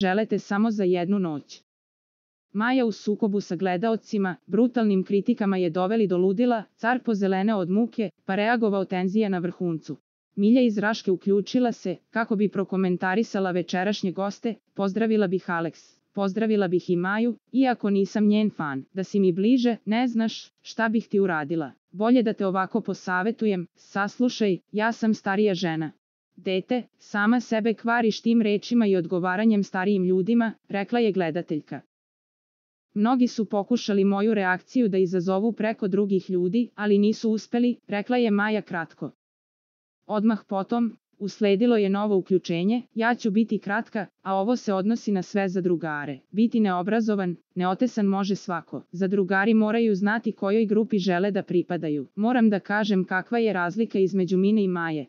želete samo za jednu noć. Maja u sukobu sa gledaocima, brutalnim kritikama je doveli do ludila, car pozeleneo od muke, pa reagovao tenzija na vrhuncu. Milja iz Raške uključila se, kako bi prokomentarisala večerašnje goste, pozdravila bih Alex, pozdravila bih i Maju, iako nisam njen fan, da si mi bliže, ne znaš, šta bih ti uradila. Bolje da te ovako posavetujem, saslušaj, ja sam starija žena. Dete, sama sebe kvariš tim rečima i odgovaranjem starijim ljudima, rekla je gledateljka. Mnogi su pokušali moju reakciju da izazovu preko drugih ljudi, ali nisu uspeli, rekla je Maja kratko. Odmah potom, usledilo je novo uključenje, ja ću biti kratka, a ovo se odnosi na sve zadrugare. Biti neobrazovan, neotesan može svako. Zadrugari moraju znati kojoj grupi žele da pripadaju. Moram da kažem kakva je razlika između Mine i Maje.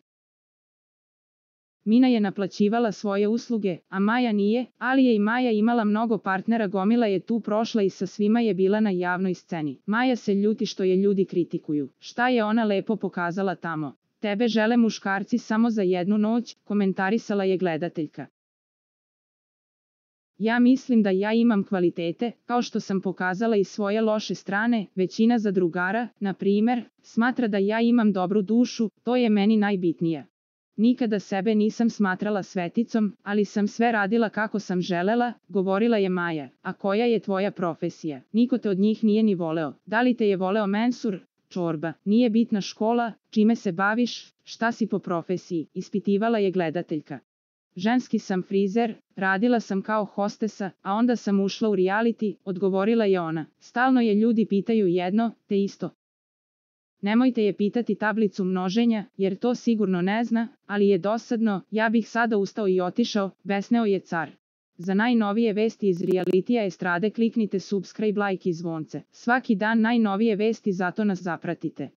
Mina je naplaćivala svoje usluge, a Maja nije, ali je i Maja imala mnogo partnera, gomila je tu prošla i sa svima je bila na javnoj sceni. Maja se ljuti što je ljudi kritikuju. Šta je ona lepo pokazala tamo? Tebe žele muškarci samo za jednu noć, komentarisala je gledateljka. Ja mislim da ja imam kvalitete, kao što sam pokazala i svoje loše strane, većina zadrugara, na primjer, smatra da ja imam dobru dušu, to je meni najbitnije. Nikada sebe nisam smatrala sveticom, ali sam sve radila kako sam želela, govorila je Maja. A koja je tvoja profesija? Niko te od njih nije ni voleo. Da li te je voleo mensur? Čorba, nije bitna škola, čime se baviš, šta si po profesiji, ispitivala je gledateljka. Ženski sam frizer, radila sam kao hostesa, a onda sam ušla u reality, odgovorila je ona. Stalno je ljudi pitaju jedno, te isto. Nemojte je pitati tablicu množenja, jer to sigurno ne zna, ali je dosadno, ja bih sada ustao i otišao, besneo je car. Za najnovije vesti iz realitija estrade kliknite subscribe, like i zvonce. Svaki dan najnovije vesti, zato nas zapratite.